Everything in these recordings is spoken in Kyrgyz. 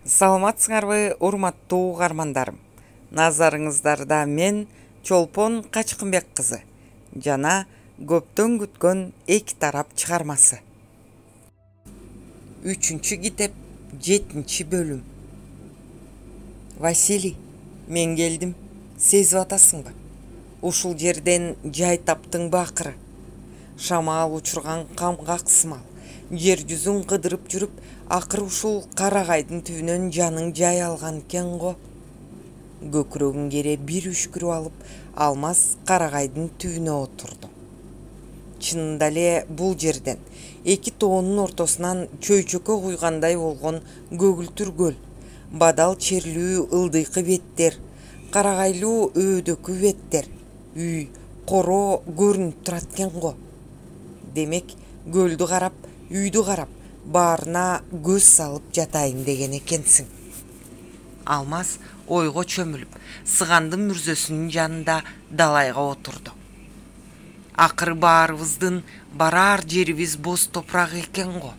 Саламатсыңарбы, урматтуу угармандарым. Назарыңыздарда мен Чолпон Качкынбек кызы жана көптөн күткөн эки тарап чыгармасы. 3-чү китеп, 7-чи бөлүм. Василий, мен келдим. Сезип атасыңбы? Ушул жерден жай таптыңбы акыры? Шамал учурган камгак сымал жер жүзүн кыдырып жүрүп, акыры ушул карагайдын түбүнөн жаның жай алган экен го. Көкүрөгүн кере бир үшкүрүп алып, Алмаз карагайдын түбүнө отурду. Чынында эле бул жерден эки тоонун ортосунан чөйчөккө куйгандай болгон көгүлтүр көл, бадал черлүү ылдыйкы беттер, карагайлуу өөдөкү беттер, үй, коро көрүнүп турат экен го. Демек, көлдү карап, үйдү карап, баарына көз салып жатайын деген экенсиң. Алмаз ойго чөмүлүп, сыгандын мүрзөсүнүн жанында далайга отурду. Акыры баарыбыздын барар жерибиз боз топурак экен го.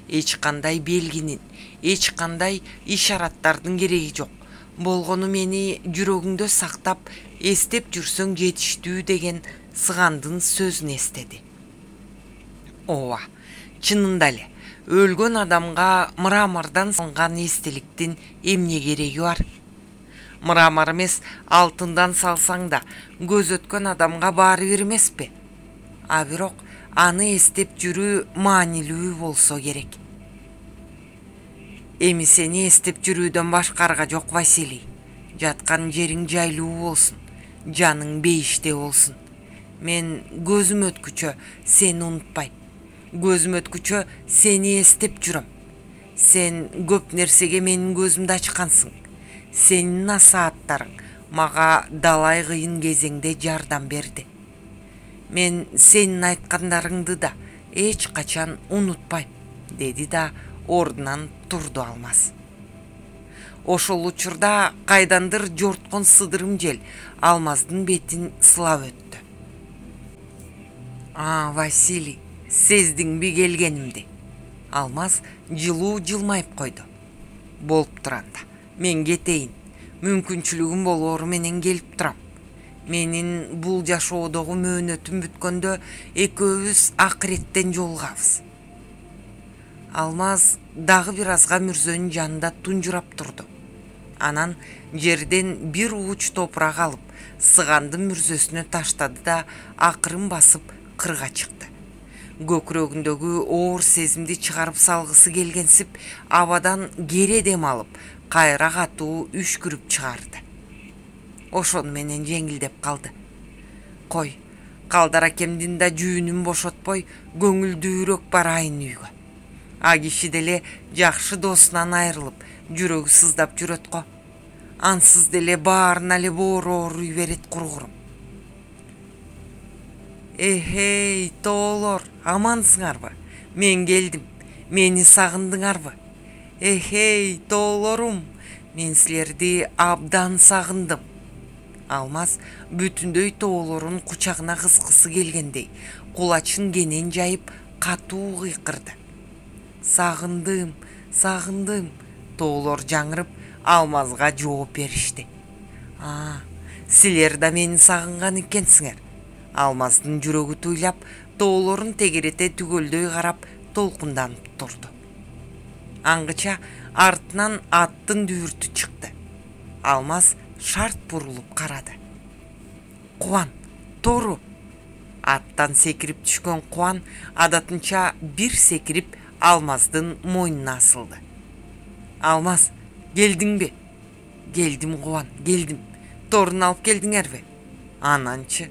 Эч кандай белгинин, эч кандай ишараттардын кереги жок. Болгону мени жүрөгүңдө сактап, эстеп жүрсөң жетиштүү деген сыгандын сөзүн эстеди. Ооба, чынында эле өлгөн адамга мрамордон салынган эстеликтин эмне кереги бар? Мрамор эмес, алтындан салсаң да көз өткөн адамга баары бир эмеспи? А бирок аны эстеп жүрүү маанилүү болсо керек. Эми сени эстеп жүрүүдөн башка арга жок, Василий. Жаткан жериң жайлуу болсун, жаның бейиште болсун. Мен көзүм өткүчө сени унутпайм. Көзүм өткүчө сени эстеп жүрөм. Сен көп нерсеге менин көзүмдү ачкансың. Сенин насааттарың мага далай кыйын кезеңде жардам берди. Мен сенин айткандарыңды да эч качан унутпайм, деди да ордунан турду Алмаз. Ошол учурда кайдандыр жорткон сыдырым жел Алмаздын бетин сылап өттү. Василий, сездиңби келгенимди? Алмаз жылуу жылмайып койду. Болуп туранда, мен кетейин. Мүмкүнчүлүгүм болоору менен келип турам. Менин бул жашоодогу мөөнөтүм бүткөндө экөөбүз акыреттен жолугабыз. Алмаз дагы бир азга мүрзөнүн жанында тунжурап турду. Анан жерден бир ууч топурак алып, сыгандын мүрзөсүнө таштады да акырын басып кырга чыкты. Көкүрөгүндөгү оор сезимди чыгарып салгысы келгенсип, абадан кере дем алып, кайра катуу үшкүрүп чыгарды. Ошону менен жеңилдеп калды. Кой, Калдар акемдин да жүүнүн бошотпой, көңүлдүүрөөк барайын үйгө. А киши деле жакшы досунан айрылып, жүрөгү сыздап жүрөт го. Ансыз деле баарына эле боору ооруй берет кургурум. Эхей, тоолор, амансыңарбы? Мен келдим. Мени сагындыңарбы? Эхей, тоолорум, мен силерди абдан сагындым. Алмаз бүтүндөй тоолорун кучагына кыскысы келгендей, кулачын кенен жайып, катуу кыйкырды. Сагындым, сагындым, тоолор жаңырып, Алмазга жооп беришти. Силер да мени сагынган экенсиңер. Алмаздын жүрөгү туйлап, тоолорун тегерете түгөлдөй карап, толкунданып турду. Аңгыча артынан аттын дүбүртү чыкты. Алмаз шарт бурулуп карады. Кубан, тору! Аттан секирип түшкөн Кубан адатынча бир секирип Алмаздын мойнуна асылды. Алмаз, келдиңби? Келдим, Кубан, келдим. Торун алып келдиңерби? Ананчы?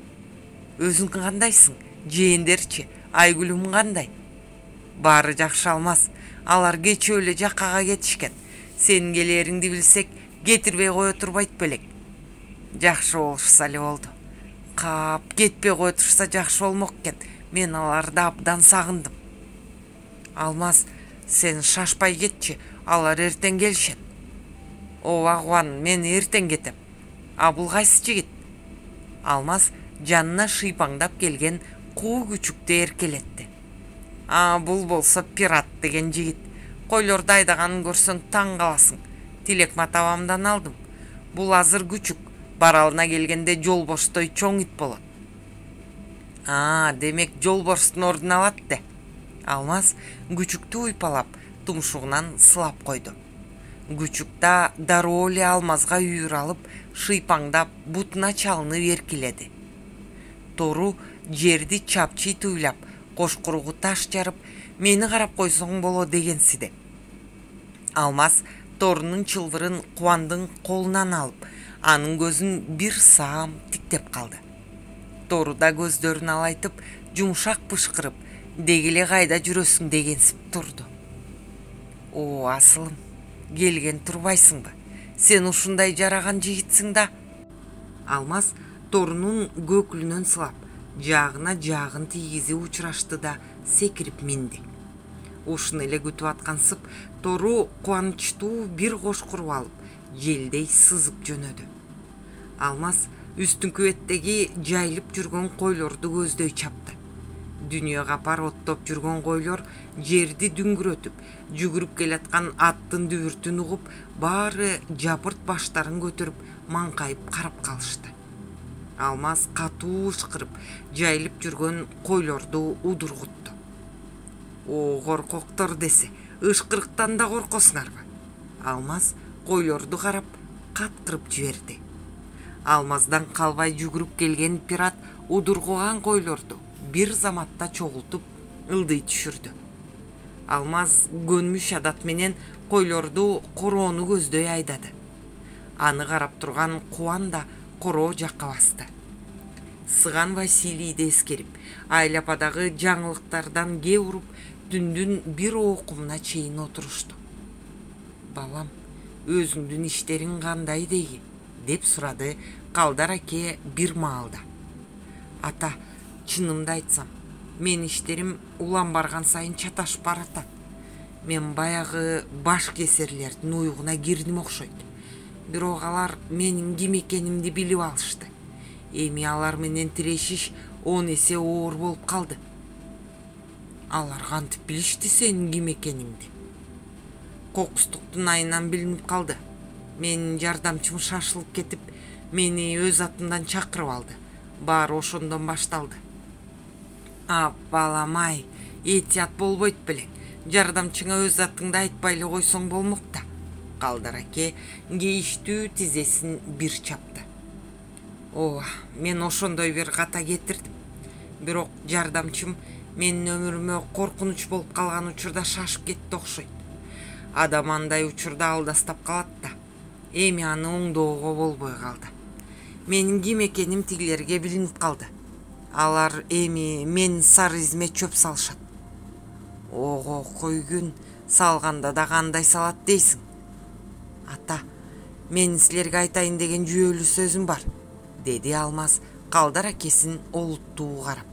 Өзүң кандайсың? Жээндерчи, Айгүлүм кандай? Баары жакшы, Алмаз. Алар кечээ эле жаккага кетишкен. Сенин келээриңди билсек, кетирбей кое турбайт белек. Жакшы болушса эле болду. Кап, кетпей кое турса жакшы болмок экен. Мен аларды абдан сагындым. Алмаз, сен шашпай кетчи, алар эртең келишет. Ооба, Кубан, мен эртең кетем. А бул кайсы жигит? Алмаз жанына шыйпаңдап келген куу күчүктү эркелетти. Бул болсо пират деген жигит. Койлорду айдаганын көрсөң таң каласың. Тилекмат абамдан алдым. Бул азыр күчүк, баралына келгенде жолборстой чоң ит болот. Демек жолборстун ордун алат де. Алмаз күчүктү уйпалап, тумшугунан сылап койду. Күчүк да дароо эле Алмазга үйүр алып, шыйпаңдап, бутуна чалынып эркиледи. Тору жерди чапчый туйлап, кошкуругу таш жарып, мени карап койсоң боло дегенсиде. Алмаз торунун чылбырын Кубандын колунан алып, анын көзүн бир саам тиктеп калды. Тору да көздөрүн алайтып, жумшак бышкырып, дегеле кайда жүрөсүң дегенсип турду. О, асылым, келген турбайсыңбы? Сен ушундай жараган жигитсиң да. Алмаз торунун көкүлүнөн сылап, жаагына жаагын тийгизип учурашты да секирип минди. Ушуну эле күтүп аткансып, тору кубанычтуу бир кош куруп алып, желдей сызып жөнөдү. Алмаз үстүңкү беттеги жайылып жүргөн койлорду көздөй чапты. Дүйнө капар оттоп жүргөн койлор жерди дүңгүрөтүп, жүгүрүп келаткан аттын дүбүртүн угуп, баары жапырт баштарын көтөрүп, маңкайып карап калышты. Алмаз катуу ышкырып, жайылып жүргөн койлорду удургутту. О, коркоктор десе, ышкырыктан да коркосуңарбы? Алмаз койлорду карап, каткырып жиберди. Алмаздан калбай жүгүрүп келген пират удургуган койлорду бир заматта чогултуп ылдый түшүрдү. Алмаз көнмүш адат менен койлорду короону көздөй айдады. Аны карап турган Кубан да короо жакка басты. Сыган Василийди эскерип, айлападагы жаңылыктардан кээ уруп, түндүн бир окумуна чейин отурушту. Балам, өзүңдүн иштериң кандай дейги? Деп сурады Калдар аке бир маалда. Ата, чынымды айтсам, мен иштерим улам барган сайын чаташып баратат. Мен баягы баш кесерлердин уйугуна кирдим окшойт. Бирок алар менин ким экенимди билип алышты. Эми алар менен тирешиш 10 эсе оор болуп калды. Алар кантип билишти сенин ким экениңди? Кокустуктун айынан билинип калды. Менин жардамчым шашылып кетип, мени өз атымдан чакырып алды. Баары ошондон башталды. Балам-ай, этият болбойт белең. Жардамчыңа өз атыңды айтпай эле койсоң болмок да. Калдар аке кейиштүү тизесин бир чапты. Мен ошондой бир ката кетирдим. Бирок жардамчым менин өмүрүмө коркунуч болуп калган учурда шашып кетти окшойт. Адам андай учурда алдастап калат да. Эми аны оңдоого болбой калды. Менин ким экеним тигилерге билинип калды. Алар эми менин сары изиме чөп салышат. Ого, койгүн, салганда да кандай салат дейсиң? Ата, менин силерге айтайын деген жүйөлүү сөзүм бар, деди Алмаз Калдар акесин олуттуу карап.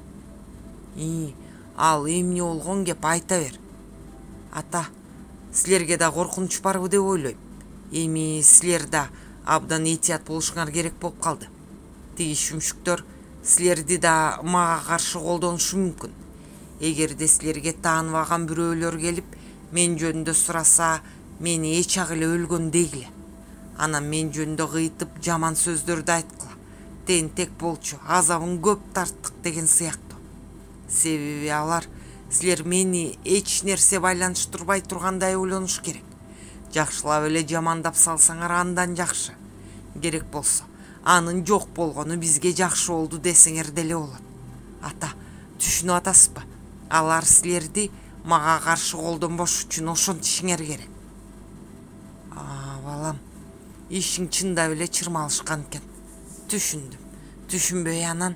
Ал эмне болгон кеп, айта бер. Ата, силерге да коркунуч барбы деп ойлойм. Эми силер да абдан этият болушуңар керек болуп калды. Тиги шүмшүктөр силерди да мага каршы колдонушу мүмкүн. Эгерде силерге тааныбаган бирөөлөр келип, мен жөнүндө сураса, мени эч ак эле өлгөн дегиле. Анан мен жөнүндө кыйтып жаман сөздөрдү айткыла. Тентек болчу, азабын көп тарттык деген сыяктуу. Себеби алар силер мени эч нерсе байланыштырбай тургандай ойлонуш керек. Жакшылап эле жамандап салсаңар андан жакшы. Керек болсо, анын жок болгону бизге жакшы болду десеңер деле болот. Ата, түшүнүп атасызбы? Алар силерди мага каршы колдонбош үчүн ошентишиңер керек. Балам, ишиң чындап эле чырмалышкан экен. Түшүндүм. Түшүнбөй анан?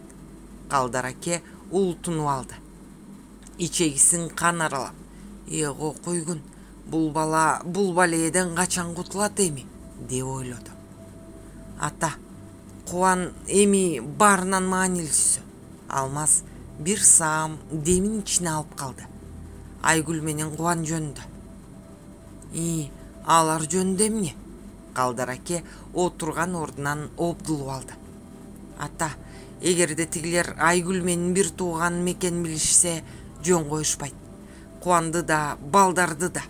Калдар аке улутунуп алды. Ичегисин кан аралап. Эго койгун, бул бала бул баледен качан кутулат эми, деп ойлоду. Ата, Кубан эми баарынан маанилүүсү. Алмаз бир саам демин ичине алып калды. Айгүл менен Кубан жөнүндө. Алар жөнүндө эмне? Калдар аке отурган ордунан обдулуп алды. Ата, эгерде тигилер Айгүл менин бир тууганым экенин билишсе, жөн коюшпайт. Кубанды да, балдарды да.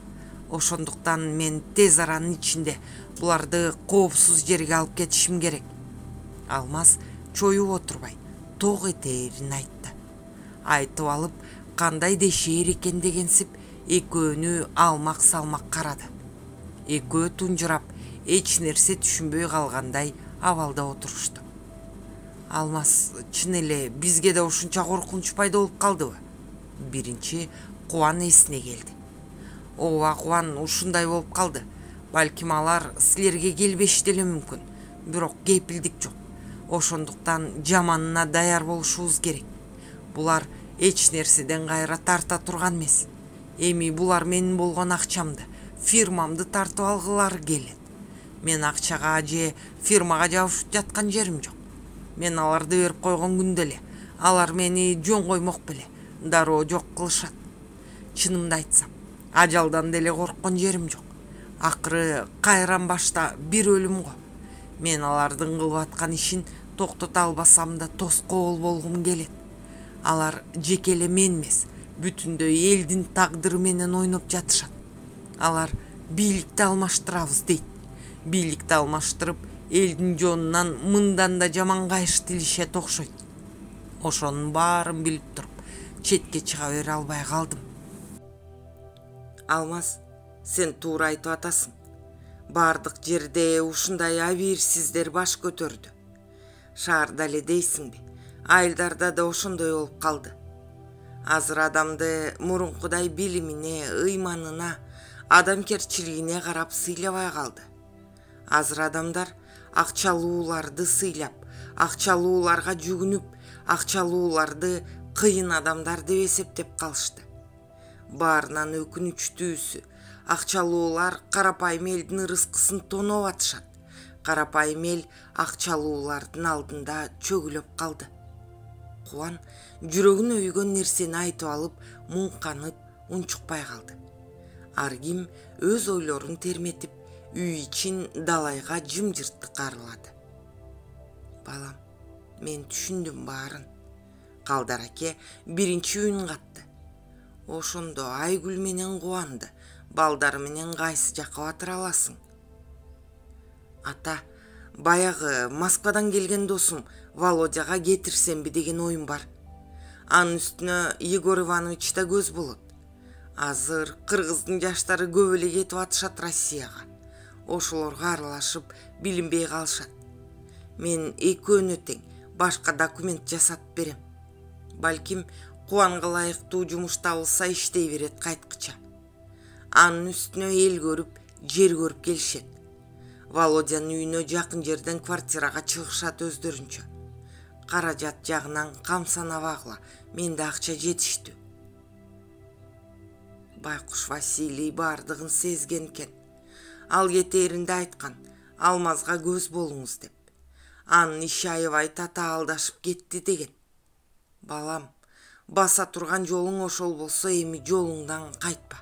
Ошондуктан мен тез аранын ичинде буларды коопсуз жерге алып кетишим керек. Алмаз чоюп отурбай ток этээрин айтты. Айтып алып кандай дешээр экен дегенсип экөөнү алмак салмак карады. Экөө тунжурап эч нерсе түшүнбөй калгандай абалда отурушту. Алмаз, чын эле бизге да ушунча коркунуч пайда болуп калдыбы? Биринчи Кубан эсине келди. Ооба Кубан, ушундай болуп калды. Балким алар силерге келбеши деле мүмкүн. Бирок кепилдик жок. Ошондуктан жаманына даяр болушубуз керек. Булар эч нерседен кайра тарта турган эмес. Эми булар менин болгон акчамды, фирмамды тартып алгылары келет. Мен акчага же фирмага жабышып жаткан жерим жок. Мен аларды берип койгон күндө эле алар мени жөн коймок беле дароо жок кылышат. Чынымды айтсам, ажалдан деле корккон жерим жок. Акыры кайран башта бир өлүм го. Мен алардын кылып аткан ишин токтото албасам да тоскоол болгум келет. Алар жеке эле мен эмес, бүтүндөй элдин тагдыры менен ойноп жатышат. Алар бийликти алмаштырабыз дейт. Бийликти алмаштырып, элдин жонунан мындан да жаман кайыш тилишет окшойт. Ошонун баарын билип туруп, четке чыга бере албай калдым. Алмаз, сен туура айтып атасың. Бардык жерде ушундай абийирсиздер баш көтөрдү. Шаарда эле дейсиңби? Айылдарда да ошондой болуп калды. Азыр адамды мурункудай билимине, ыйманына, адамкерчилигине карап сыйлабай калды. Азыр адамдар акчалууларды сыйлап, акчалууларга жүгүнүп, акчалууларды кыйын адамдар деп эсептеп калышты. Баарынан өкүнүчтүүсү, акчалуулар карапайым элдин ырыскысын тоноп атышат. Карапайым эл акчалуулардын алдында чөгүлөп калды. Кубан жүрөгүнө өйгөн нерсени айтып алып, муңканып, унчукпай калды. Ар ким өз ойлорун терметип, үй ичин далайга жымжырттык арылады. Балам, мен түшүндүм баарын. Калдар аке биринчи үн катты. Ошондо Айгүл менен Кубанды балдары менен кайсы жакка батыра аласың? Ата, баягы Москвадан келген досум Володяга кетирсемби деген оюм бар. Анын үстүнө Егор Иванович да көз болот. Азыр кыргыздын жаштары көп эле кетип атышат Россияга. Ошолорго аралашып билинбей калышат. Мен экөөнө тең башка документ жасатып берем. Балким Кубанга ылайыктуу жумуш табылса иштей берет кайткыча. Анын үстүнө эл көрүп, жер көрүп келишет. Володянын үйүнө жакын жерден квартирага чыгышат өздөрүнчө. Каражат жагынан камсанабагыла, менде акча жетиштүү. Байкуш Василий бардыгын сезген экен. Ал кетээринде айткан, Алмазга көз болуңуз деп. Анын иши аябай татаалдашып кетти деген. Балам, баса турган жолуң ошол болсо эми жолуңдан кайтпа.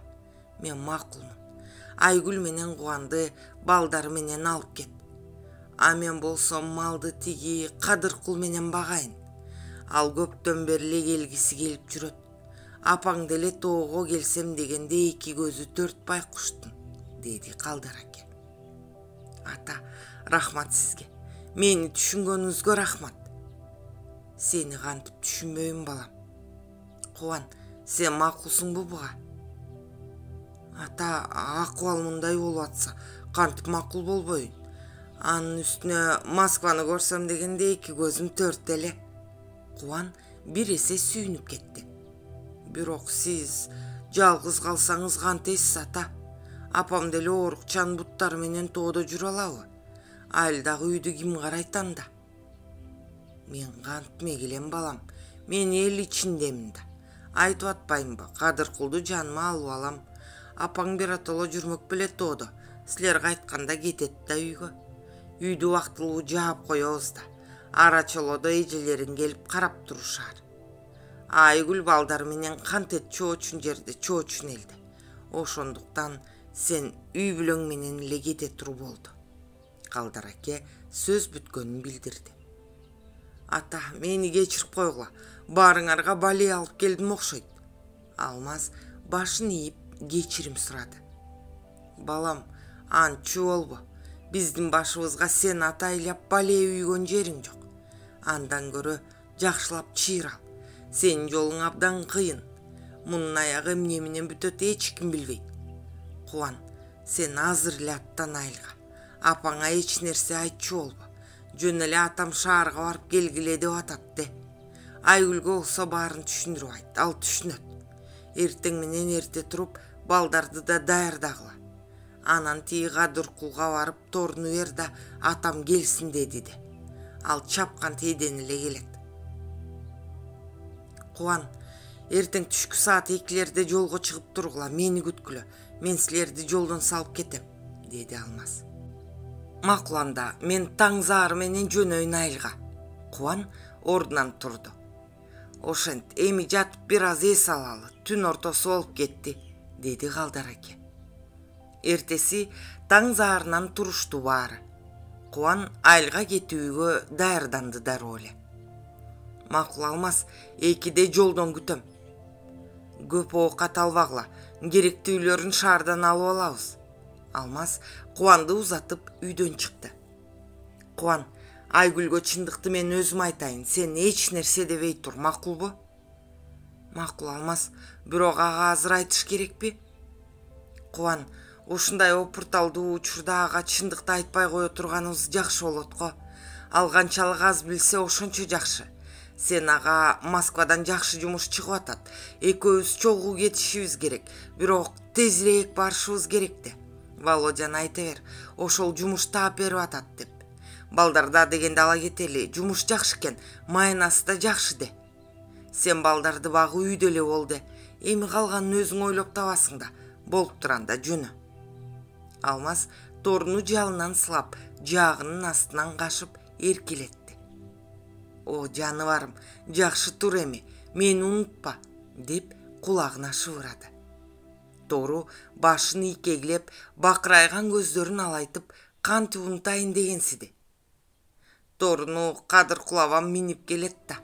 Мен макулмун. Айгүл менен Кубанды балдары менен алып кет. А мен болсом малды тиги Кадыркул менен багайын. Ал көптөн бери эле келгиси келип жүрөт. Апаң деле тоого келсем дегенде эки көзү төрт байкуштун, деди Калдар аке. Ата, рахмат сизге. Мени түшүнгөнүңүзгө рахмат. Сени кантип түшүнбөйм балам. Кубан, сен макулсуңбу буга? Ата, акыбал мындай болуп атса, кантип макул болбойн? Анын үстүнө Москваны көрсөм дегенде эки көзүм төрт эле. Кубан бир эсе сүйүнүп кетти. Бирок сиз жалгыз калсаңыз кантесиз, ата? Апам деле оорукчанын буттары менен тоодо жүрө алабы? Айылдагы үйдү ким карайт анда? Мен кантмек элем балам, мен эл ичиндемин да. Айтып атпаймынбы, Кадыркулду жаныма алып алам. Апаң биротоло жүрмөк беле тоодо. Силер кайтканда кетет да үйгө. Үйдү убактылуу жаап коебуз да. Ара чолодо эжелерин келип карап турушаар. Айгүл балдары менен кантет чоочун жерде чоочун элди. Ошондуктан сен үй бүлөң менен эле кете тур болду. Калдар аке сөз бүткөнүн билдирди. Ата, мени кечирип койгула. Баарыңарга бале алып келдим окшойт. Алмаз башын ийип кечирим сурады. Балам, антчы болбо. Биздин башыбызга сен атайлап бале үйгөн жериң жок. Андан көрө жакшылап чыйрал. Сенин жолуң абдан кыйын. Мунун аягы эмне менен бүтөт эч ким билбейт. Кубан, сен азыр эле аттан айылга. Апаңа эч нерсе айтчу болбо. Жөн эле атам шаарга барып келгиле деп атат де. Айгүлгө болсо баарын түшүндүрүп айт, ал түшүнөт. Эртең менен эрте туруп, балдарды да даярдагыла. Анан тиги Кадыркулга барып торуну бер да атам келсин деди де. Ал чапкан тийден эле келет. Кубан, эртең түшкү саат 2-лерде жолго чыгып тургула, мени күткүлө. Мен силерди жолдон салып кетем, деди Алмаз. Макул анда, мен таң заары менен жөнөйүн айылга. Кубан ордунан турду. Ошент, эми жатып бир аз эс алалы, түн ортосу болуп кетти, деди Калдар аке. Эртеси таң заарынан турушту баары. Кубан айылга кетүүгө даярданды дароо эле. Макул Алмаз, 2-де жолдон күтөм. Көп оокат албагыла, керектүүлөрүн шаардан алып алабыз. Алмаз Кубанды узатып үйдөн чыкты. Кубан, Айгүлгө чындыкты мен өзүм айтайын, сен эч нерсе дебей тур, макулбу? Макул Алмаз, бирок ага азыр айтыш керекпи? Кубан, ушундай опурталдуу учурда ага чындыкты айтпай кое турганыбыз жакшы болот го. Ал канчалык аз билсе ошончо жакшы. Сен ага Москвадан жакшы жумуш чыгып атат. Экөөбүз чогуу кетишибиз керек, бирок тезирээк барышыбыз керек де. Володяны айта бер, ошол жумуш таап берип атат деп. Балдарда дегенде ала кетели, жумуш жакшы экен, майнасы да жакшы де. Сен балдарды багып үйдө эле бол де. Эми калганын өзүң ойлоп табасың да. Болуп турганда жөнө. Алмаз торуну жалынан сылап, жаагынын астынан кашып эркелетти. О, жаныбарым, жакшы тур эми, мени унутпа, деп кулагына шыбырады. Тору башын ийкегилеп, бакырайган көздөрүн алайтып, кантип унутайын дегенсиди. Торуну Кадыркул абам минип келет да.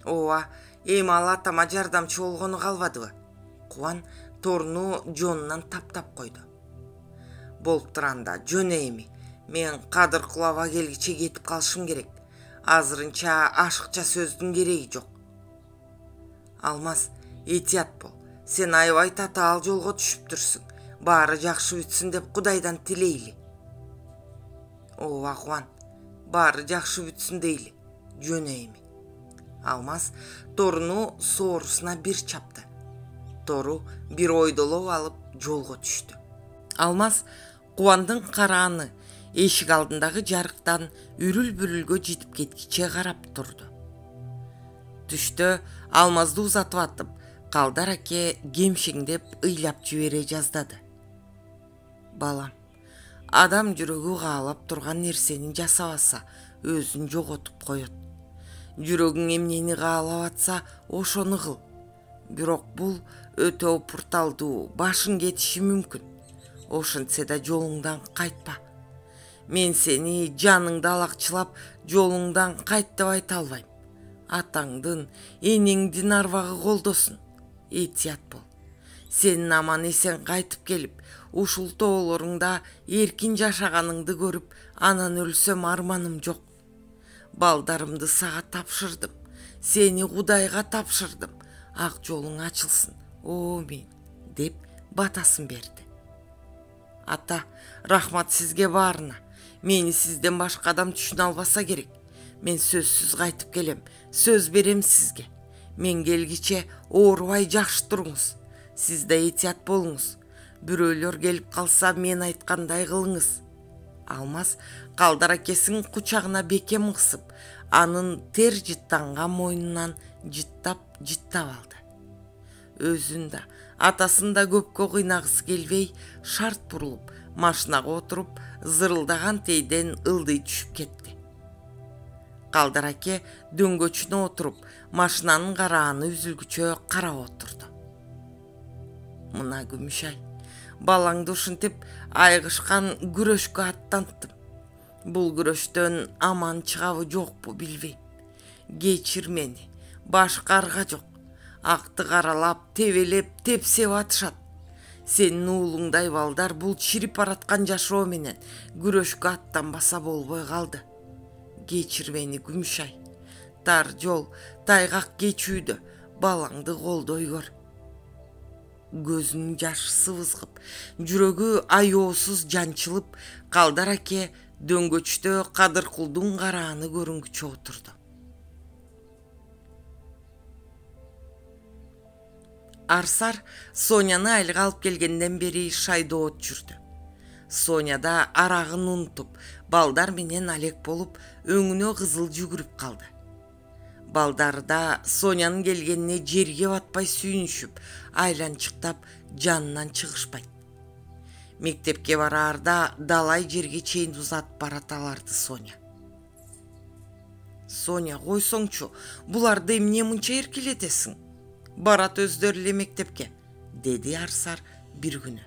Ооба, эми ал атама жардамчы болгону калбадыбы? Кубан торуну жонунан таптап койду. Болуп турганда жөнө эми. Мен Кадыркул аба келгиче кетип калышым керек. Азырынча ашыкча сөздүн кереги жок. Алмаз, этият бол. Сен аябай татаал жолго түшүптүрсүң. Баары жакшы бүтсүн деп Кудайдан тилейли. Ооба Кубан, баары жакшы бүтсүн дейли. Жөнө эми. Алмаз торуну соорусуна бир чапты. Тору бир ойдолоп алып жолго түштү. Алмаз Кубандын карааны эшик алдындагы жарыктан үрүл-бүрүлгө житип кеткиче карап турду. Түштө Алмазды узатып атып, Калдар аке кемшеңдеп ыйлап жибере жаздады. Балам, адам жүрөгү каалап турган нерсени жасабаса, өзүн жоготуп коет. Жүрөгүң эмнени каалап атса, ошону кыл. Бирок бул өтө опурталдуу, башың кетиши мүмкүн. Ошентсе да жолуңдан кайтпа. Мен сени жаныңды алакчылап, жолуңдан кайт деп айта албайм. Атаңдын, энеңдин арбагы колдосун. Этият бол. Сенин аман эсен кайтып келип, ушул тоолоруңда эркин жашаганыңды көрүп, анан өлсөм арманым жок. Балдарымды сага тапшырдым. Сени Кудайга тапшырдым. Ак жолуң ачылсын. Амин, деп батасын берди. Ата, рахмат сизге баарына. Мени сизден башка адам түшүнө албаса керек. Мен сөзсүз кайтып келем. Сөз берем сизге. Мен келгиче оорубай жакшы туруңуз. Сиз да этият болуңуз. Бирөөлөр келип калса, мен айткандай кылыңыз. Алмаз Калдар акесин кучагына бекем кысып, анын тер жыттанган мойнунан жыттап алды. Өзүн да, атасын да көпкө кыйнагысы келбей, шарт бурулуп, машинага отуруп, зырылдаган тийден ылдый түшүп кетти. Калдар аке дөңгөчүнө отуруп, машинанын карааны үзүлгүчө карап отурду. Мына Күмүшай, балаңды ушинтип айгышкан күрөшкө аттанттым. Бул күрөштөн аман чыгабы жокпу билбейм. Кечир мени, башка арга жок. Акты каралап, тебелеп, тепсеп атышат. Сенин уулуңдай балдар бул чирип бараткан жашоо менен күрөшкө аттанбаса болбой калды. Кечир мени Күмүшай. Тар жол, тайгак кечүүдө балаңды колдой көр. Көзүнүн жашы сыбызгып, жүрөгү аеосуз жанчылып, Калдар аке дөңгөчтө Кадыркулдун карааны көрүнгүчө отурду. Арсар Соняны айылга алып келгенден бери шайдоот жүрдү. Соня да арагын унутуп, балдар менен алек болуп, өңүнө кызыл жүгүрүп калды. Балдар да Сонянын келгенине жерге батпай сүйүнүшүп, айланчыктап жанынан чыгышпайт. Мектепке бараарда далай жерге чейин узатып бараталарды Соня. Соня, койсоңчу, буларды эмне мынча эркелетесиң? Барат өздөрү эле мектепке, деди Арсар бир күнү.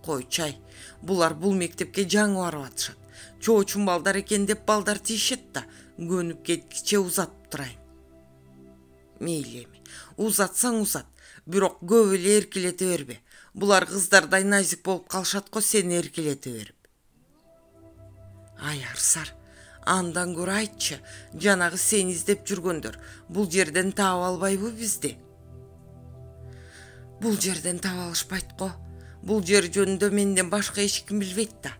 Койчай, булар бул мектепке жаңы барып атышат. Чоочун балдар экен деп балдар тийишет да, көнүп кеткиче узатып турайын. Мейли эми, узатсаң узат, бирок көп эле эркелете бербе. Булар кыздардай назик болуп калышат го сени эркелете берип. Ай Арсар, андан көрө айтчы, жанагы сени издеп жүргөндөр бул жерден таап албайбы бизди? Бул жерден таба алышпайт го. Бул жер жөнүндө менден башка эч ким билбейт да.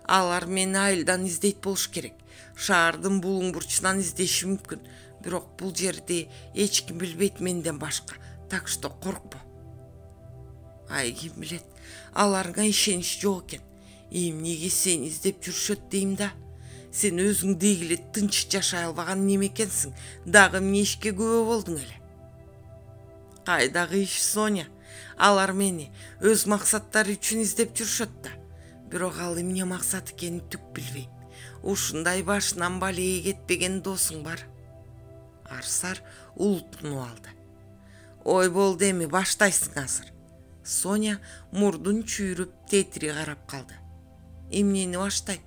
Алар мени айылдан издейт болуш керек. Шаардын булуң бурчунан издеши мүмкүн, бирок бул жерди эч ким билбейт менден башка. Так что коркпо. Ай, ким билет, аларга ишенич жок экен. Эмнеге сени издеп жүрүшөт дейм да. Сен өзүң дегиле тынч жашай албаган неме экенсиң, дагы эмне ишке күбө болдуң эле? Кайдагы иш, Соня? Алар мени өз максаттары үчүн издеп жүрүшөт да. Бирок ал эмне максат экенин түк билбейм. Ушундай башынан балее кетпеген досуң бар. Арсар улутунуп алды. Ой болду эми, баштайсың азыр. Соня мурдун чүйрүп тетири карап калды. Эмнени баштайм?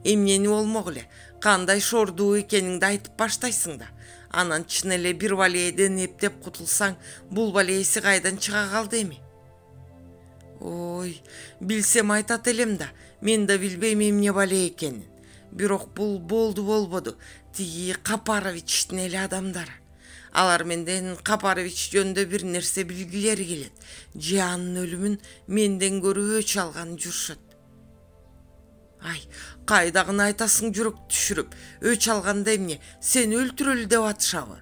Эмнени болмок эле, кандай шордуу экениңди айтып баштайсың да. Анан чын эле бир балееден эптеп кутулсаң, бул балееси кайдан чыга калды эми? Ой, билсем айтат элем да, мен да билбейм эмне балее экенин. Бирок бул болду болбоду, тиги Капаровичтин эле адамдары. Алар менден Капарович жөнүндө бир нерсе билгилери келет. Же анын өлүмүн менден көрүп өч алган жүрүшөт. Ай, кайдагыны айтасың жүрөк түшүрүп, өч алганда эмне, сени өлтүрөлү деп атышабы?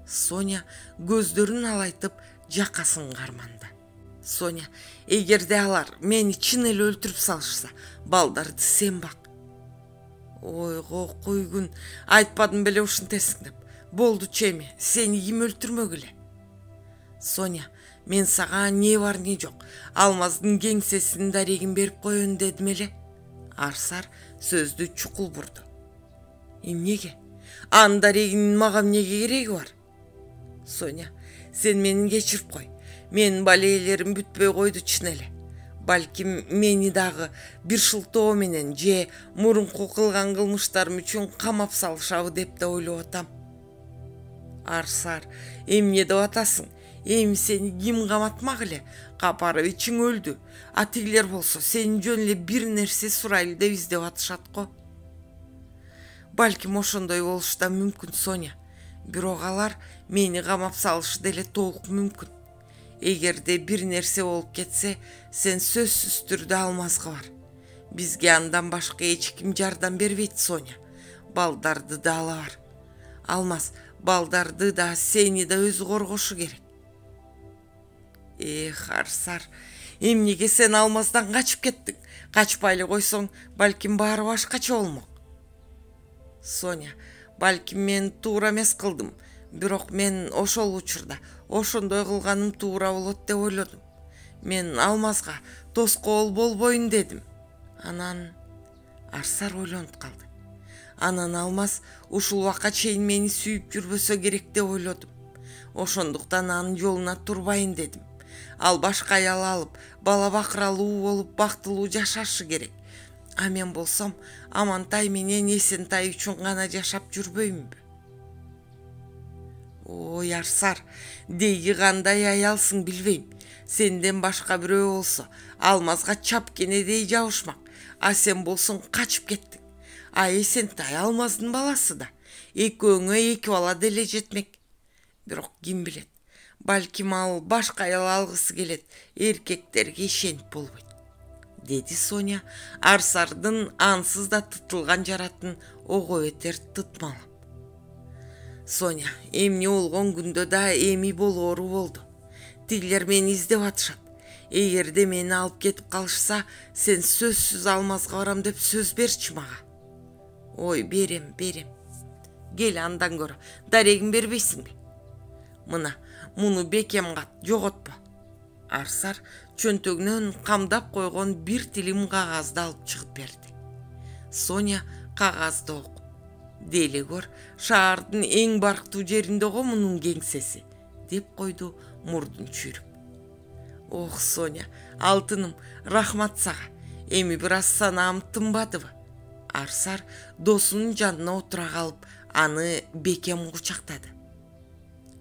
Соня көздөрүн алайтып жакасын карманды. Соня, эгерде алар мени чын эле өлтүрүп салышса, балдарды сен бак. Ойго койгун, айтпадым беле ушинтесиң деп. Болду чеми, сени ким өлтүрмөк эле? Соня, мен сага не бар не жок, Алмаздын кеңсесинин дарегин берип коеюн дедим эле. Арсар сөздү чукул бурду. Эмнеге? Анын дарегинин мага эмнеге кереги бар? Соня, сен мени кечирип кой. Менин балеелерим бүтпөй койду чын эле. Балким мени дагы бир шылтоо менен же мурунку кылган кылмыштарым үчүн камап салышабы деп да ойлоп атам. Арсар, эмне деп атасың? Эми сени ким каматмак эле? Капаровичиң өлдү. А тигилер болсо сенин жөн эле бир нерсе сурайлы деп издеп атышат го. Балким ошондой болушу да мүмкүн, Соня. Бирок алар мени камап салышы деле толук мүмкүн. Эгерде бир нерсе болуп кетсе, сен сөзсүз түрдө Алмазга бар. Бизге андан башка эч ким жардам бербейт, Соня. Балдарды да ала бар. Алмаз балдарды да сени да өзү коргошу керек. Арсар, эмнеге сен Алмаздан качып кеттиң? Качпай эле койсоң, балким баары башкача болмок. Соня, балким мен туура эмес кылдым, бирок мен ошол учурда ошондой кылганым туура болот деп ойлодум. Мен Алмазга тоскоол болбоюн дедим. Анан Арсар ойлонуп калды. Анан Алмаз ушул убакка чейин мени сүйүп жүрбөсө керек деп ойлодум. Ошондуктан анын жолуна турбайын дедим. Ал башка аял алып, бала бакыралуу болуп, бактылуу жашашы керек. А мен болсом, Амантай менен Эсентай үчүн гана жашап жүрбөймүнбү? Ой, Арсар, деги кандай аялсың билбейм. Сенден башка бирөө болсо Алмазга чапкенедей жабышмак. А сен болсоң качып кеттиң. Эсентай Алмаздын баласы да. Экөөңө 2 бала деле жетмек. Бирок ким билет? Балким ал башка аял алгысы келет. Эркектерге ишенип болбойт, деди Соня Арсардын ансыз да тытылган жаратын ого бетер тытмалап. Соня, эмне болгон күндө да эми болоору болду. Тигилер мени издеп атышат. Эгерде мени алып кетип калышса, сен сөзсүз Алмазга барам деп сөз берчи мага. Ой, берем. Кел андан көрө, дарегин бербейсиңби? Мына, муну бекем кат, жоготпо. Арсар чөнтөгүнөн камдап койгон бир тилим кагазды алып чыгып берди. Соня кагазды окуп: "Деле көр, шаардын эң барктуу жеринде го мунун кеңсеси", деп койду мурдун чүйрүп. Ох, Соня, алтыным, рахмат сага. Эми бир аз санаам тынбадыбы? Арсар досунун жанына отура калып, аны бекем кучактады.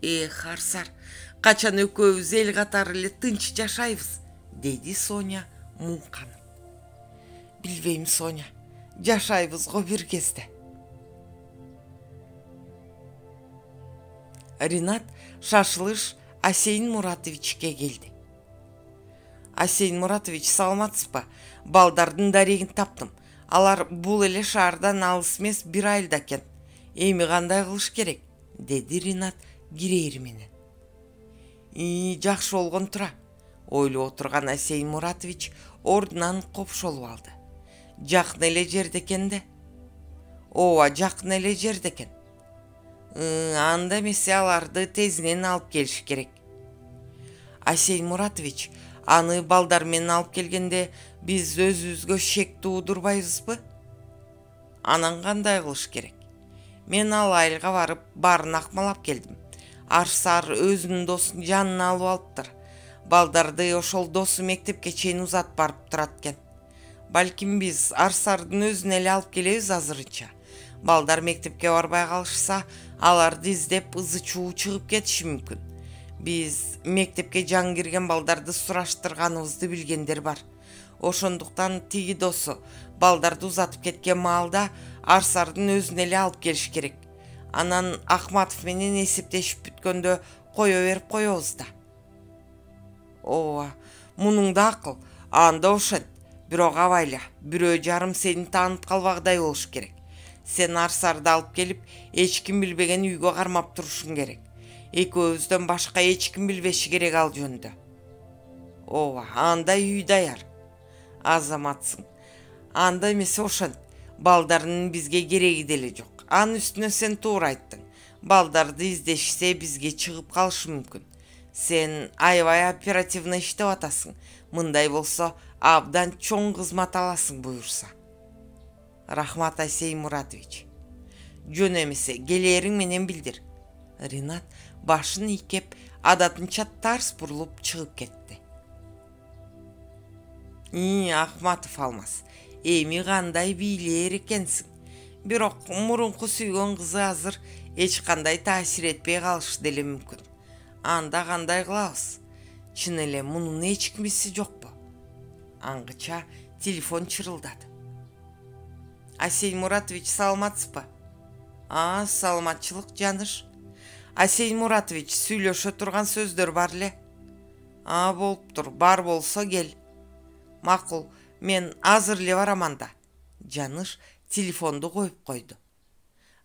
Эх, Арсар, качан экөөбүз эл катары эле тынч жашайбыз, деди Соня муңканып. Билбейм, Соня, жашайбыз го бир кезде. Ринат шашылыш Асейин Муратовичке келди. Асейин Муратович, саламатсызбы? Балдардын дарегин таптым. Алар бул эле шаардан алыс эмес, бир айылда экен. Эми кандай кылыш керек? Деди Ринат кирээри менен. Жакшы болгон тура. Ойлоп отурган Асейин Муратович ордунан копшолуп алды. Жакын эле жерде экен да. Ооба, жакын эле жерде экен. Анда эмесе аларды тезинен алып келиш керек. Асейин Муратович, аны балдар менен алып келгенде биз өзүбүзгө шек туудурбайбызбы? Анан кандай кылыш керек? Мен ал айылга барып, баарын акмалап келдим. Арсар өзүнүн досун жанына алып алыптыр. Балдарды ошол досу мектепке чейин узатып барып турат экен. Балким биз Арсардын өзүн эле алып келебиз азырынча. Балдар мектепке барбай калышса, аларды издеп ызы чуу чыгып кетиши мүмкүн. Биз мектепке жаңы кирген балдарды сураштырганыбызды билгендер бар. Ошондуктан тиги досу балдарды узатып кеткен маалда Арсардын өзүн эле алып келиш керек. Анан Ахматов менен эсептешип бүткөндө кое берип коебуз да. Ооба, мунуң да акыл. Анда ошент. Бирок абайла, бирөө жарым сени таанып калбагыдай болуш керек. Сен Арсарды алып келип, эч ким билбеген үйгө кармап турушуң керек. Экөөбүздөн башка эч ким билбеши керек ал жөнүндө. Ооба, анда үй даяр. Азаматсың. Анда эмесе ошент. Балдардын бизге кереги деле жок. Анын үстүнө сен туура айттың. Балдарды издешсе бизге чыгып калышы мүмкүн. Сен аябай оперативно иштеп атасың. Мындай болсо абдан чоң кызмат аласың буюрса. Рахмат, Асейин Муратович. Жөн эмесе келээриң менен билдир. Ринат башын ийкеп, адатынча тарс бурулуп чыгып кетти. Ахматов Алмаз, эми кандай бийлээр экенсиң. Бирок мурунку сүйгөн кызы азыр эч кандай таасир этпей калышы деле мүмкүн. Анда кандай кылабыз? Чын эле мунун эч кимиси жокпу? Аңгыча телефон чырылдады. Асейин Муратович, саламатсызбы? Саламатчылык, Жаныш. Асейин Муратович, сүйлөшө турган сөздөр бар эле. Болуптур, бар болсо кел. Макул, мен азыр эле барам анда. Жаныш телефонду коюп койду.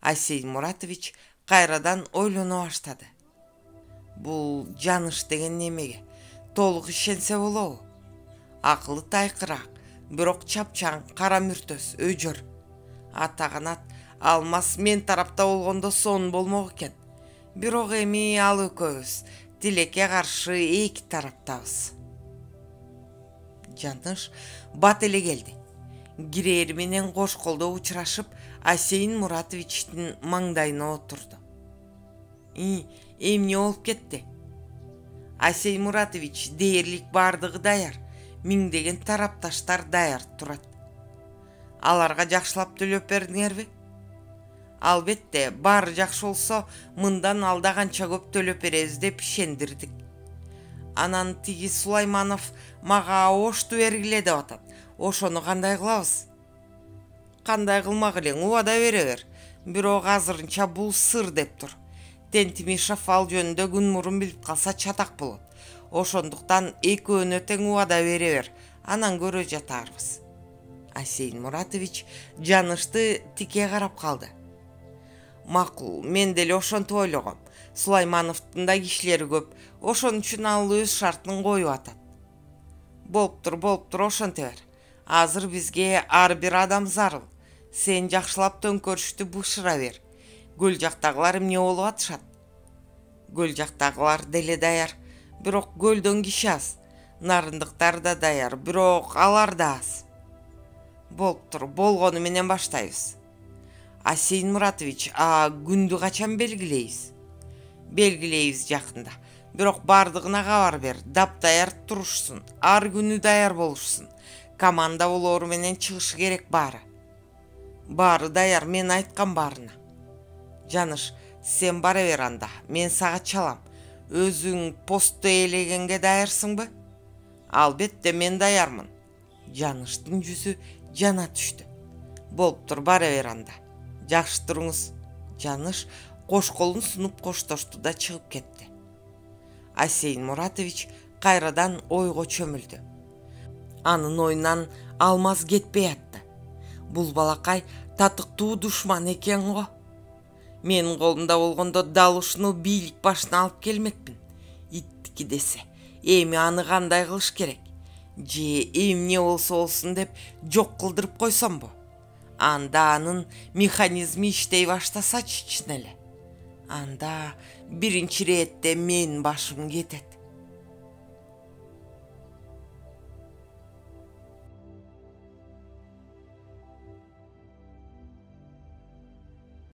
Асейин Муратович кайрадан ойлоно баштады. Бул Жаныш деген немеге толук ишенсе болобу? Акылы тайкыраак, бирок чапчаң, кара мүртөс, өжөр. Атаганат Алмаз мен тарапта болгондо сонун болмок экен. Бирок эми ал экөөбүз тилекке каршы эки тараптабыз. Жаныш бат эле келди. Кирээри менен кош колдо учурашып, Асейин Муратовичтин маңдайына отурду. Эмне болуп кетти? Асейин Муратович, дээрлик бардыгы даяр. Миңдеген тарапташтар даяр турат. Аларга жакшылап төлөп бердиңерби? Албетте, баары жакшы болсо, мындан алда канча көп төлөп беребиз деп ишендирдик. Анан тиги Сулайманов мага ошту бергиле деп атат. Ошону кандай кылабыз? Кандай кылмак элең, убада бере бер. Бирок азырынча бул сыр деп тур. Тентимишев ал жөнүндө күн мурун билип калса чатак болот. Ошондуктан экөөнө тең убада бере бер. Анан көрө жатарбыз. Асейин Муратович Жанышты тике карап калды. Макул, мен деле ошентип ойлогом. Сулаймановдун да кишилери көп. Ошон үчүн ал өз шартын коюп атат. Болуптур, ошенте бер. Азыр бизге ар бир адам зарыл. Сен жакшылап төңкөрүштү бышыра бер. Көл жактагылар эмне болуп атышат? Көл жактагылар деле даяр, бирок көлдөн киши аз. Нарындыктар да даяр, бирок алар да аз. Болуптур, болгону менен баштайбыз. Асейин Муратович, күндү качан белгилейбиз? Белгилейбиз жакында. Бирок бардыгына кабар бер, даяр турушсун, ар күнү даяр болушсун. Команда болору менен чыгышы керек баары. Баары даяр, мен айткан баарына. Жаныш, сен бара бер анда, мен сага чалам. Өзүң постто ээлегенге даярсыңбы? Албетте мен даярмын. Жаныштын жүзү жана түштү. Болуптур, бара бер анда. Жакшы туруңуз. Жаныш кош колун сунуп коштошту да чыгып кетти. Асейин Муратович кайрадан ойго чөмүлдү. Анын оюнан алмаз кетпей атты. Бул балакай татыктуу душман экен го. Менин колумда болгондо дал ушуну бийлик башына алып келмекмин. Иттики десе, эми аны кандай кылыш керек? Же эмне болсо болсун деп жок кылдырып койсомбу? Анда анын механизми иштей баштасачы чын эле. Анда биринчи иретте менин башым кетет.